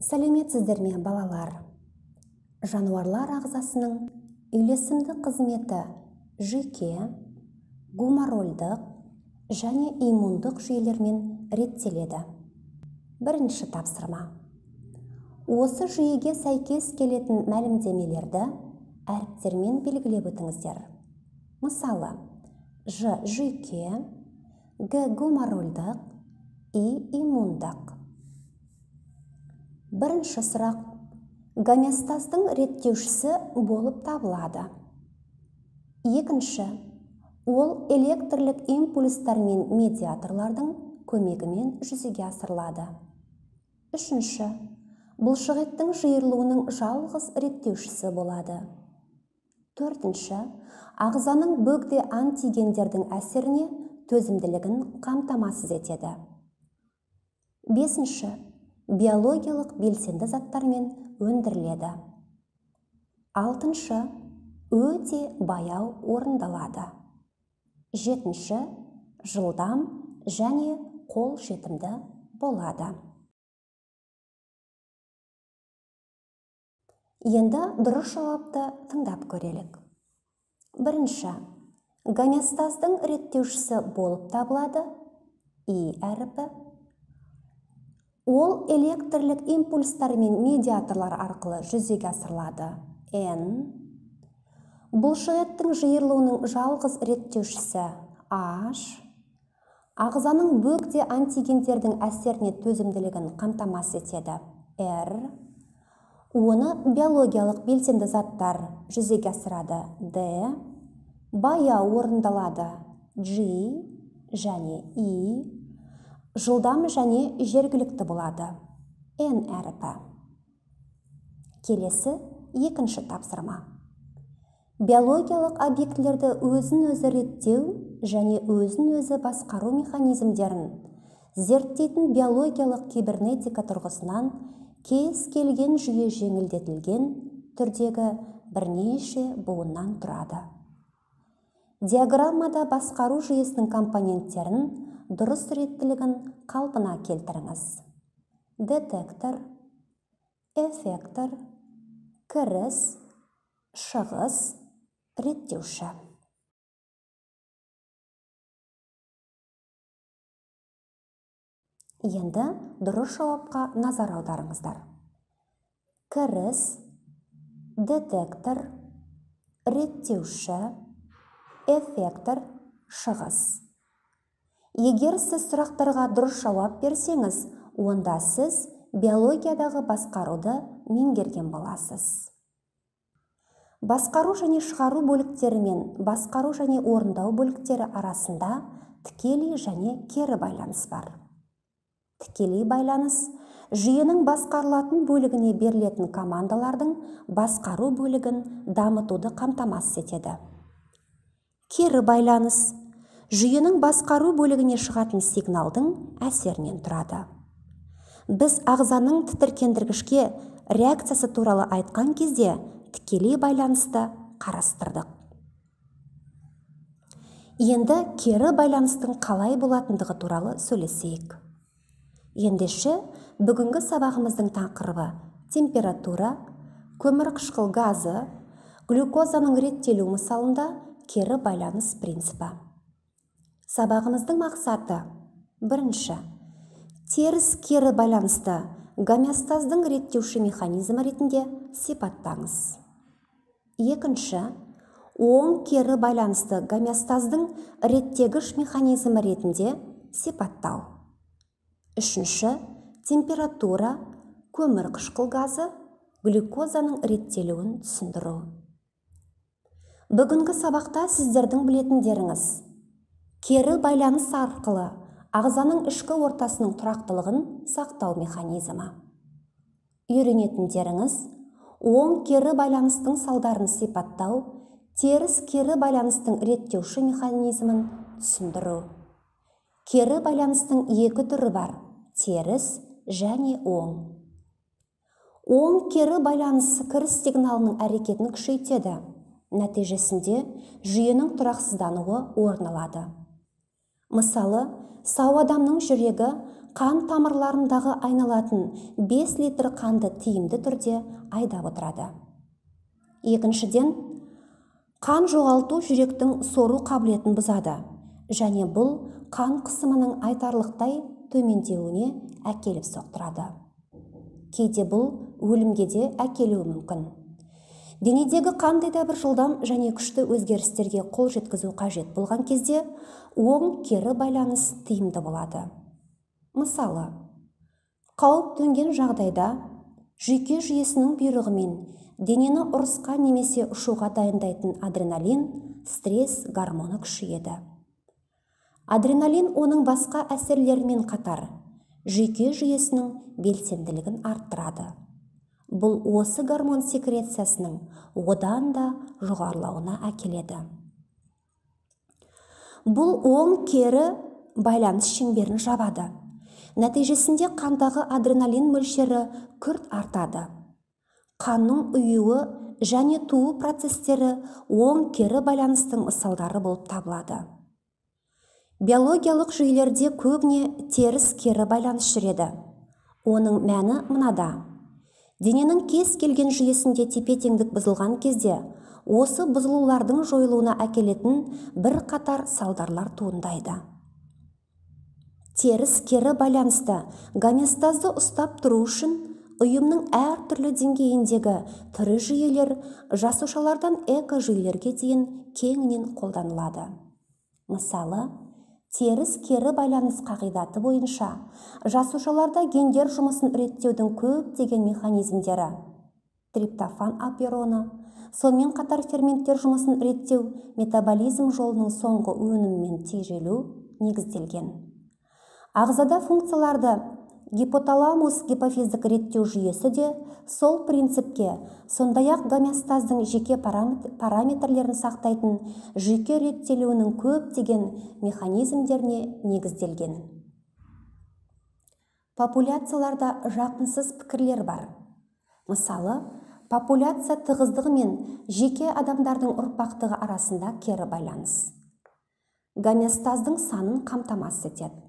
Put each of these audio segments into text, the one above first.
Сәлеметсіздер ме, балалар? Жануарлар ағзасының үйлесімді қызметі жүйке, гуморальдық және иммундық жүйелермен реттеледі. Бірінші тапсырма. Осы жүйеге сәйкес келетін мәлімдемелерді әріптермен белгілеп өтіңіздер. Мысалы, Ж жүйке, Г гуморальдық, И иммундық. Бірінші сұрақ. Гомеостаздың реттеушісі болып табылады. Екінші. Ол электрлік импульстар мен медиаторлардың көмегімен жүзеге асырылады. Үшінші. Бұлшықеттің жиырылуының жалғыз реттеушісі болады. Төртінші. Ағзаның бөгде антигендердің әсеріне төзімділігін қамтамасыз етеді. Бесінші. Биологиялық белсенді заттармен өндіріледі. Алтыншы. Өте баяу орындалады. Жетінші. Жылдам және қол жетімді болады. Енді дұрыс жауапты тыңдап көрелік. Бірінші. Гомеостаздың реттеушісі болып табылады И әріпі. Ол электрлік импульстар мен медиаторлар арқылы жүзеге асырылады Н. Бұлшықеттің жиырылуының жалғыз реттеушісі H. Ағзаның бөгде антигендердің әсеріне төзімділігін қамтамасыз етеді R. Оны биологиялық белсенді заттар жүзеге асырады D. Баяу орындалады G және I. Жылдам және жергілікті болады N әріпі. Келесі екінші тапсырма. Биологиялық объектілерді өзін-өзі реттеу және өзін-өзі басқару механизмдерін зерттейтін биологиялық кибернетика тұрғысынан кез келген жүйе жеңілдетілген түрдегі бірнеше буыннан тұрады. Диаграммада басқару жүйесінің компоненттерін дұрыс реттілігін қалпына келтіріңіз. Детектор, эффектор, кіріс, шығыс, реттеуші. Енді дұрыс жауапқа назар аударыңыздар. Кіріс, детектор, реттеуші, эффектор, шығыс. Егер сіз сұрақтарға дұрыс жауап берсеңіз, онда сіз биологиядағы басқаруды меңгерген боласыз. Басқару және шығару бөліктері мен басқару және орындау бөліктері арасында тікелей және кері байланыс бар. Тікелей байланыс жүйенің басқарылатын бөлігіне берілетін командалардың басқару бөлігін дамытуды қамтамасыз етеді. Кері байланыс жүйенің басқару бөлігіне шығатын сигналдың әсерінен тұрады. Біз ағзаның тітіркендіргішке реакциясы туралы айтқан кезде тікелей байланысты қарастырдық. Енді кері байланыстың қалай болатындығы туралы сөйлесейік. Ендеше бүгінгі сабағымыздың тақырыбы температура, көмірқышқыл газы, глюкозаның реттелу мысалында кері байланыс принципі. Сабағымыздың мақсаты: бірінші, теріс кері байланысты гомеостаздың реттеуші механизмі ретінде сипаттаңыз. Екінші, оң кері байланысты гомеостаздың реттегіш механизмі ретінде сипаттау. Үшінші, температура, көмірқышқыл газы, глюкозаның реттелуін түсіндіру. Бүгінгі сабақта сіздердің білетіндеріңіз: кері байланыс арқылы ағзаның ішкі ортасының тұрақтылығын сақтау механизмі. Үйренетіндеріңіз: оң кері байланыстың салдарын сипаттау, теріс кері байланыстың реттеуші механизмін түсіндіру. Кері байланыстың екі түрі бар: теріс және оң. Оң кері байланыс кіріс сигналының әрекетін күшейтеді. Нәтижесінде жүйенің тұрақсыздануы орын алады. Мысалы, сау адамның жүрегі қан тамырларындағы айналатын 5 литр қанды тиімді түрде айдап отырады. Екіншіден, қан жоғалту жүректің сору қабілетін бұзады және бұл қан қысымының айтарлықтай төмендеуіне әкеліп соқтырады. Кейде бұл өлімге де әкелуі мүмкін. Денедегі қандай да бір жылдам және күшті өзгерістерге қол жеткізу қажет болған кезде оң кері байланыс тиімді болады. Мысалы, қауіп төнген жағдайда жүйке жүйесінің бұйрығымен денені ұрысқа немесе ұшуға дайындайтын адреналин, стресс гормоны күшейеді. Адреналин оның басқа әсерлерімен қатар жүйке жүйесінің белсенділігін арттырады. Бұл осы гормон секрециясының одан да жоғарылауына әкеледі. Бұл оң кері байланыс шеңберін жабады. Нәтижесінде қандағы адреналин мөлшері күрт артады. Қанның ұюы және туу процестері оң кері байланыстың мысалдары болып табылады. Биологиялық жүйелерде көбіне теріс кері байланыс жүреді. Оның мәні мынада. Дененің кез келген жүйесінде тепе-теңдік бұзылған кезде осы бұзылулардың жойылуына әкелетін бір қатар салдарлар туындайды. Теріс кері байланысты гомеостазды ұстап тұру үшін ұйымның әр түрлі деңгейіндегі тірі жүйелер жасушалардан экожүйелерге дейін кеңінен қолданылады. Мысалы, теріс кері байланыс қағидаты бойынша жасушаларда гендер жұмысын реттеудің көптеген механизмдері, триптофан апероны, сонымен қатар ферменттер жұмысын реттеу метаболизм жолының соңғы өнімімен тежелу негізделген. Ағзада функцияларды гипоталамус гипофиздік реттеу жүйесі де сол принципке, сондай-ақ гомеостаздың жеке параметрлерін сақтайтын жүйке реттелуінің көптеген механизмдеріне негізделген. Популяцияларда жақынсыз пікірлер бар. Мысалы, популяция тығыздығы мен жеке адамдардың ұрпақтығы арасында кері байланыс. Гомеостаздың санын қамтамасыз етеді.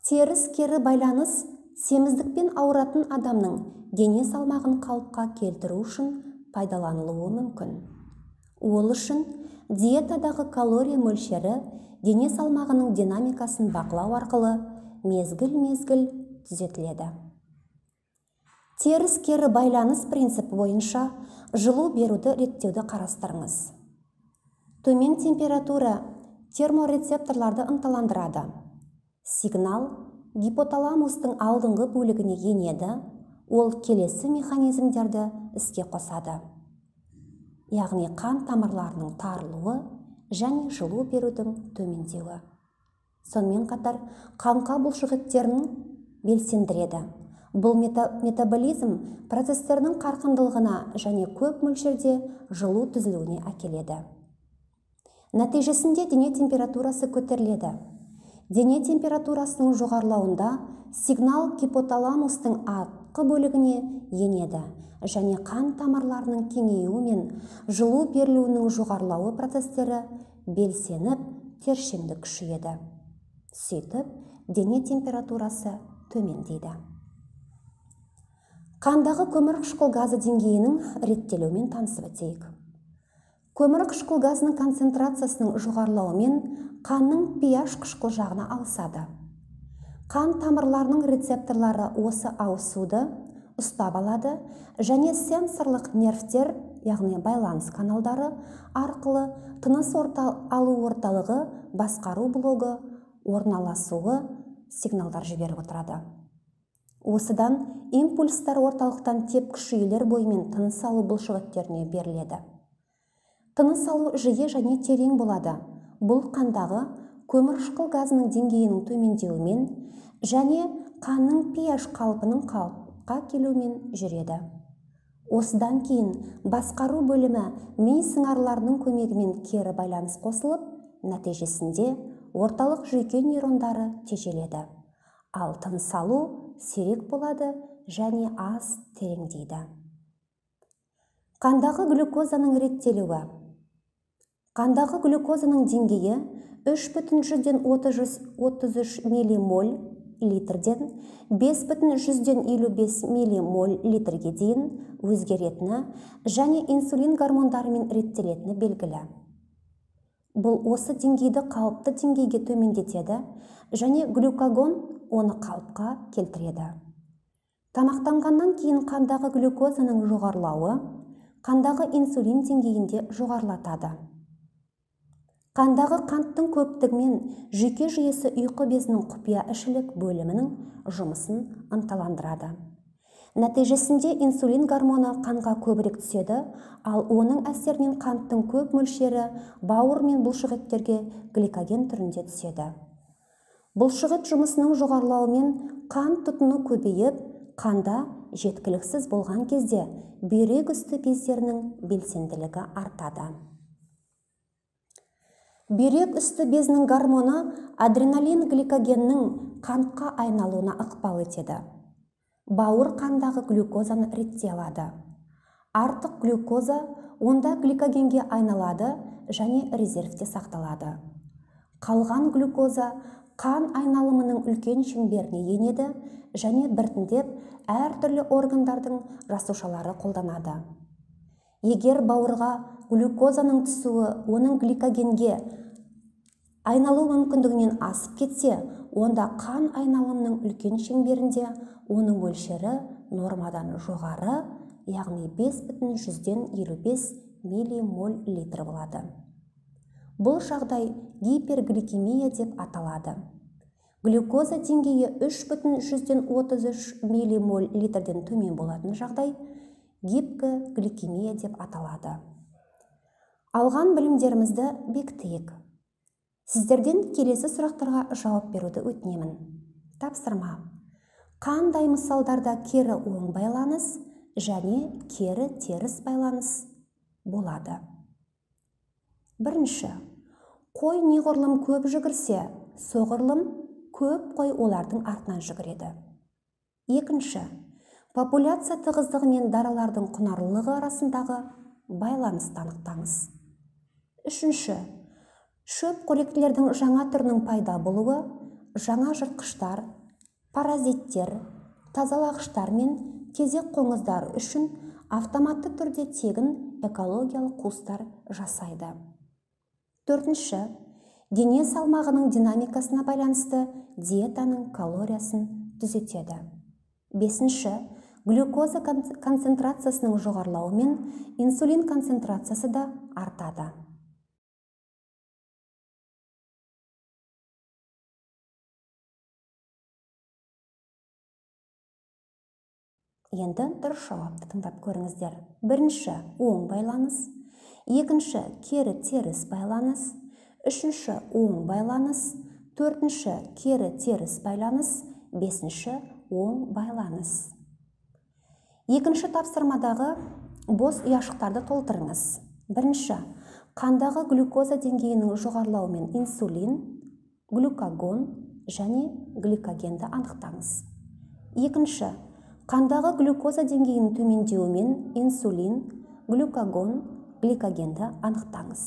Теріс кері байланыс семіздікпен ауыратын адамның дене салмағын қалыпқа келтіру үшін пайдаланылуы мүмкін. Ол үшін диетадағы калория мөлшері дене салмағының динамикасын бақылау арқылы мезгіл-мезгіл түзетіледі. Теріс кері байланыс принципі бойынша жылу беруді реттеуді қарастырыңыз. Төмен температура терморецепторларды ынталандырады. Сигнал гипоталамустың алдыңғы бөлігіне енеді, ол келесі механизмдерді іске қосады. Яғни қан тамырларының тарылуы және жылу берудің төмендеуі. Сонымен қатар қаңқа бұлшықеттерін белсендіреді. Бұл метаболизм процестерінің қарқындылығына және көп мөлшерде жылу түзілуіне әкеледі. Нәтижесінде дене температурасы көтеріледі. Дене температурасының жоғарылауында сигнал гипоталамустың артқы бөлігіне енеді және қан тамырларының кеңеюі мен жылу берілуінің жоғарылауы процестері белсеніп, тершеңдік күшейеді. Сөйтіп, дене температурасы төмендейді. Қандағы көмірқышқыл газы деңгейінің реттелуімен танысып өтейік. Көмірқышқыл газының концентрациясының жоғарылауымен қанның pH қышқыл жағына ауысады. Қан тамырларының рецепторлары осы ауысуды ұстап алады және сенсорлық нервтер, яғни байланыс каналдары арқылы тыныс алу орталығы басқару блогы орналасуы сигналдар жіберіп отырады. Осыдан импульстар орталықтан тепкіш жүйелер бойымен тыныс алу бұлшықеттеріне беріледі. Тыныс алу жиі және терең болады. Бұл қандағы көмірқышқыл газының деңгейінің төмендеуімен және қанның pH қалпының қалыпқа келуімен жүреді. Осыдан кейін басқару бөлімі ми сыңарларының көмегімен кері байланыс қосылып, нәтижесінде орталық жүйке нейрондары тежеледі. Ал тыныс алу сирек болады және аз тереңдейді. Қандағы глюкозаның реттелуі. Қандағы глюкозаның деңгейі 3,33 миллимоль литрден 5,55 миллимоль литрге дейін өзгеретіні және инсулин гормондарымен реттелетіні белгілі. Бұл осы деңгейді қалыпты деңгейге төмендетеді және глюкагон оны қалыпқа келтіреді. Тамақтанғаннан кейін қандағы глюкозаның жоғарылауы қандағы инсулин деңгейінде жоғарылатады. Қандағы қанттың көптігімен жүйке жүйесі ұйқы безінің құпия ішілік бөлімінің жұмысын ынталандырады. Нәтижесінде инсулин гормоны қанға көбірек түседі, ал оның әсерінен қанттың көп мөлшері бауыр мен бұлшықеттерге гликоген түрінде түседі. Бұлшықет жұмысының жоғарылауымен қан тұтыну көбейіп, қанда жеткіліксіз болған кезде бүйрек үсті бездерінің белсенділігі артады. Бүйрек үсті безінің гормоны адреналин гликогеннің қантқа айналуына ықпал етеді. Бауыр қандағы глюкозаны ретте алады. Артық глюкоза онда гликогенге айналады және резервте сақталады. Қалған глюкоза қан айналымының үлкен шеңберіне енеді және біртіндеп әртүрлі органдардың жасушалары қолданады. Егер бауырға глюкозаның түсуі оның гликогенге айналу мүмкіндігінен асып кетсе, онда қан айналымының үлкен шеңберінде оның мөлшері нормадан жоғары, яғни 5,55 миллимоль литр болады. Бұл жағдай гипергликемия деп аталады. Глюкоза деңгейі 3,33 миллимоль литрден төмен болатын жағдай гипогликемия деп аталады. Алған білімдерімізді бекітейік. Сіздерден келесі сұрақтарға жауап беруді өтінемін. Тапсырма. Қандай мысалдарда кері оң байланыс және кері теріс байланыс болады? Бірінші. Қой неғұрлым көп жүгірсе, соғұрлым көп қой олардың артынан жүгіреді. Екінші. Популяция тығыздығы мен даралардың құнарлылығы арасындағы байланысты анықтаңыз. Үшінші. Шөп қоректілердің жаңа түрінің пайда болуы, жаңа жыртқыштар, паразиттер, тазалағыштар мен тезек қоңыздар үшін автоматты түрде тегін экологиялық қуыстар жасайды. Төртінші. Дене салмағының динамикасына байланысты диетаның калориясын түзетеді. Бесінші. Глюкоза концентрациясының жоғарылауымен инсулин концентрациясы да артады. Енді дұрыс жауапты тыңдап көріңіздер. Бірінші оң байланыс, екінші кері теріс байланыс, үшінші оң байланыс, төртінші кері теріс байланыс, бесінші оң байланыс. Екінші тапсырмадағы бос ұяшықтарды толтырыңыз. Бірінші, қандағы глюкоза деңгейінің жоғарылауымен инсулин, глюкагон және гликогенді анықтаңыз. Екінші, қандағы глюкоза деңгейінің төмендеуімен инсулин, глюкагон, гликогенді анықтаңыз.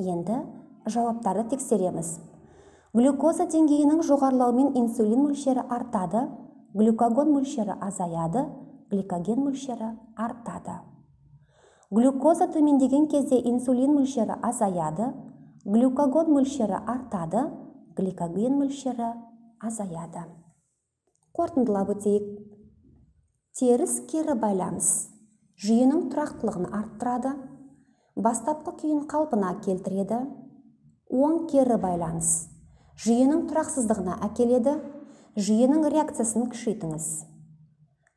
Енді жауаптарды тексереміз. Глюкоза деңгейінің жоғарылауымен инсулин мөлшері артады, глюкагон мөлшері азаяды, гликоген мөлшері артады. Глюкоза төмендеген кезде инсулин мөлшері азаяды, глюкагон мөлшері артады, гликоген мөлшері азаяды. Қорытындылап өтейік. Теріс кері байланыс жүйенің тұрақтылығын арттырады, бастапқы күйін қалпына келтіреді. Оң кері байланыс жүйенің тұрақсыздығына әкеледі, жүйенің реакциясын күшейтіңіз.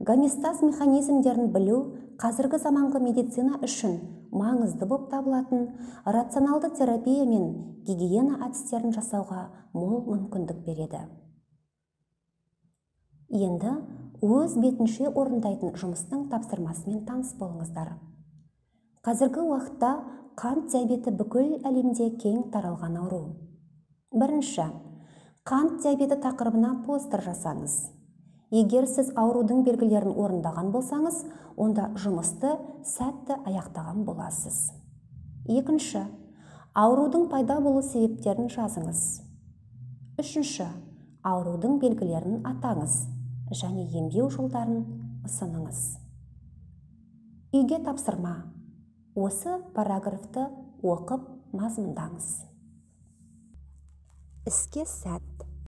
Гомеостаз механизмдерін білу қазіргі заманғы медицина үшін маңызды болып табылатын рационалды терапия мен гигиена әдістерін жасауға мол мүмкіндік береді. Енді өз бетінше орындайтын жұмыстың тапсырмасымен таныс болыңыздар. Қазіргі уақытта қант диабеті бүкіл әлемде кең таралған ауру. Бірінші, қант диабеті тақырыбына постер жасаңыз. Егер сіз аурудың белгілерін орындаған болсаңыз, онда жұмысты сәтті аяқтаған боласыз. Екінші, аурудың пайда болу себептерін жазыңыз. Үшінші, аурудың белгілерін атаңыз және емдеу жолдарын ұсыныңыз. Үйге тапсырма. Осы параграфты оқып мазмұндаңыз. Іске сәт.